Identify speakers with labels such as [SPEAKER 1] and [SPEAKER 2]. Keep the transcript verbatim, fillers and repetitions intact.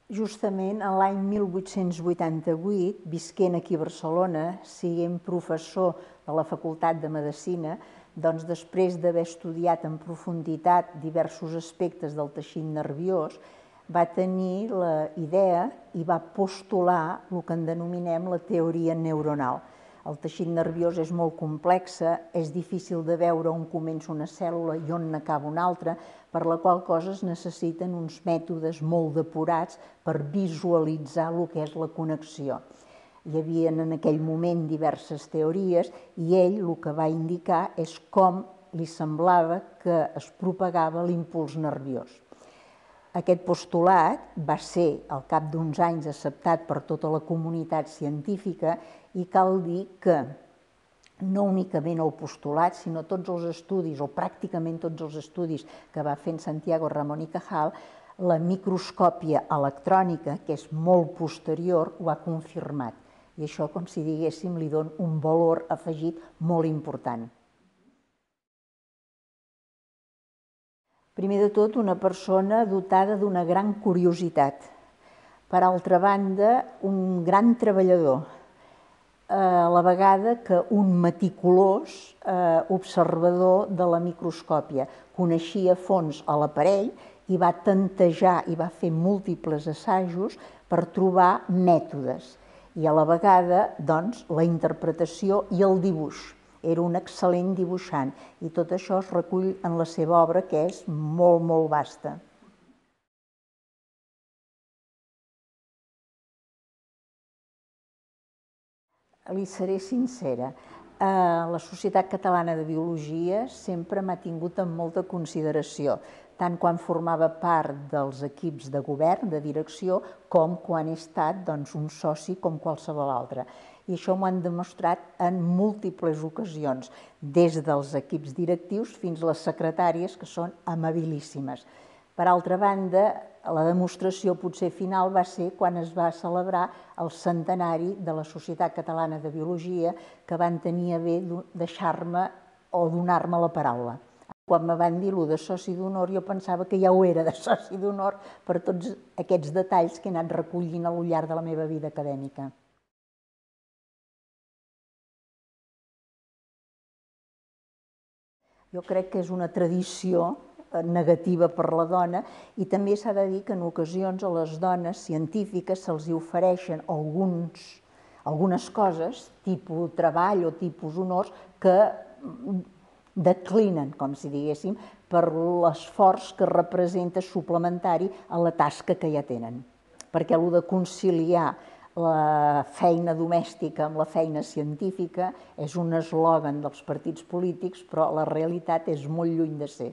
[SPEAKER 1] Justament l'any mil vuit-cents vuitanta-vuit, visquent aquí a Barcelona, sent professor de la Facultat de Medicina, doncs després d'haver estudiat en profunditat diversos aspectes del teixit nerviós, va tenir la idea i va postular el que en denominem la teoria neuronal. El teixit nerviós és molt complex, és difícil de veure on comença una cèl·lula i on n'acaba una altra, per la qual cosa es necessiten uns mètodes molt depurats per visualitzar el que és la connexió. Hi havia en aquell moment diverses teories i ell el que va indicar és com li semblava que es propagava l'impuls nerviós. Aquest postulat va ser, al cap d'uns anys, acceptat per tota la comunitat científica i cal dir que no únicament el postulat, sinó tots els estudis, o pràcticament tots els estudis que va fer en Santiago Ramón i Cajal, la microscòpia electrònica, que és molt posterior, ho ha confirmat. I això, com si diguéssim, li dona un valor afegit molt important. Primer de tot, una persona dotada d'una gran curiositat. Per altra banda, un gran treballador. A la vegada que un meticulós observador de la microscòpia. Coneixia a fons l'aparell i va tantejar i va fer múltiples assajos per trobar mètodes. I a la vegada, doncs, la interpretació i el dibuix. Era un excel·lent dibuixant i tot això es recull en la seva obra, que és molt, molt vasta. Li seré sincera, la Societat Catalana de Biologia sempre m'ha tingut en molta consideració, tant quan formava part dels equips de govern, de direcció, com quan he estat un soci com qualsevol altre. I això m'ho han demostrat en múltiples ocasions, des dels equips directius fins a les secretàries, que són amabilíssimes. Per altra banda, la demostració potser final va ser quan es va celebrar el centenari de la Societat Catalana de Biologia, que van tenir a bé deixar-me o donar-me la paraula. Quan me van dir allò de soci d'honor, jo pensava que ja ho era de soci d'honor per tots aquests detalls que he anat recollint al llarg de la meva vida acadèmica. Jo crec que és una tradició negativa per la dona i també s'ha de dir que en ocasions a les dones científiques se'ls ofereixen algunes coses, tipus treball o tipus honors, que declinen, com si diguéssim, per l'esforç que representa suplementari a la tasca que ja tenen. Perquè allò de conciliar la feina domèstica amb la feina científica és un eslògan dels partits polítics, però la realitat és molt lluny de ser.